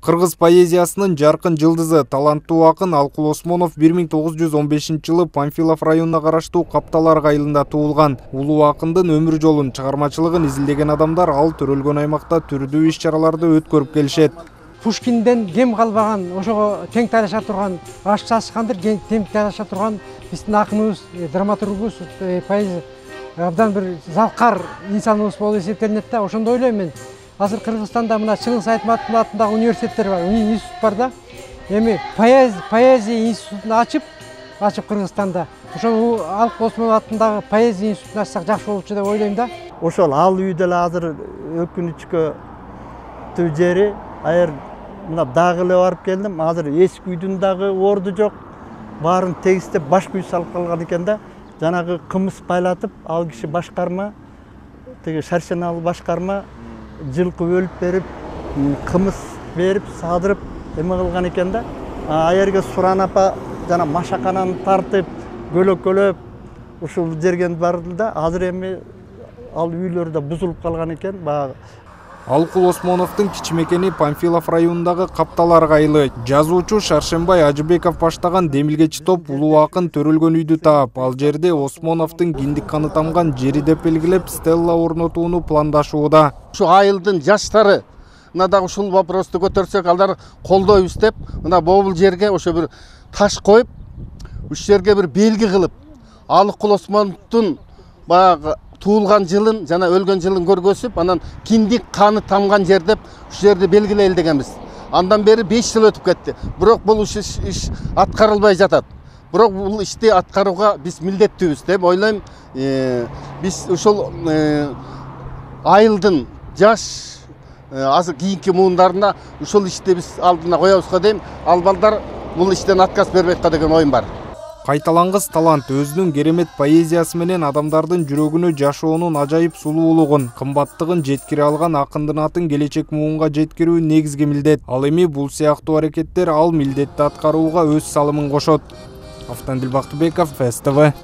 Кыргыз поэзиясынын жаркын жылдызы, таланттуу акын Алкул Осмонов 1915-жылы Панфилов районуна караштуу Капталар айылында туулган. Улуу акындын өмүр жолун, чыгармачылыгын изилдеген адамдар ал төрөлгөн аймакта түрдүү иш-чараларды өткөрүп келишет. Пушкинден кем калбаган, ошого тең талаша турган, ашык сасыкандыр тең талаша турган биздин акыныбыз, драматургубуз, поэзия абдан бир залкар инсаныбыз болуп эсептелинет да. Ошондо ойлойм мен. Азыр Кыргызстанда мына Чыңгыз Айтматовдун атындагы университеттер бар, институт бар да. Эми поэзия институтун ачып Кыргызстанда. Ошол Алкул Осмонов атындагы поэзия институтун ачсак жакшы болчу деп ойлойм да. Ошол ал үй деле азыр өкүнүчкө жери, аяр мына дагы эле барып келдим. Азыр эски үйдүн дагы орду жок. Баарын тегистеп башка үй салып калган экен да. Жанагы кымыз байлатып, ал киши башкарма, тиги Шаршеналы башкарма жылкы өлүп берип, кымыз берип, садырып эме кылган экен да. Аерге Суран апа жана машакананы тартып, көлөкөлөп ушул жерген барды да. Азыр эми ал үйлөр да бузулуп калган экен. Алкул Осмоновдун кичимекени Панфилов районундагы Капталар айылы. Жазуучу Шаршенбай Ажыбеков баштаган демилгечи топ улуу акын төрөлгөн үйдү таап, ал жерде Осмоновдун киндик каны тамган жери деп белгилеп, стелла орнотууну пландашууда. Ушу айылдын жаштары мына дагы ушул вопросту көтөрсөк, алар колдойбуз деп, мына бобул жерге ошо бир таш коюп, ушул жерге бир белги кылып, Алкул Осмоновдун баягы туулган жылын жана өлгөн жылын көргөзүп, анан киндик каны тамган жер деп ушул жерди белгилейли дегенбиз. Андан бери 5 жыл өтүп кетти. Бирок бул иш аткарылбай жатат. Бирок бул ишти аткарууга биз милдеттүүбүз деп ойлойм. Биз ушул айылдын жаш азыр кийинки муундарына ушул ишти биз алдына коебузга дейм. Ал балдар бул иштен отказ бербейт деген оюм бар. Кайталангыс талант өзүнүн керемет поэзиясы менен адамдардын жүрөгүнө жашоонун ажайып сулуулугун, кымбаттыгын жеткире алган акындын атын келечек муунга жеткирүү негизги милдет. Ал эми бул сыяктуу аракеттер ал милдетти аткарууга өз салымын кошот. Автандил Бактыбеков, СТВ.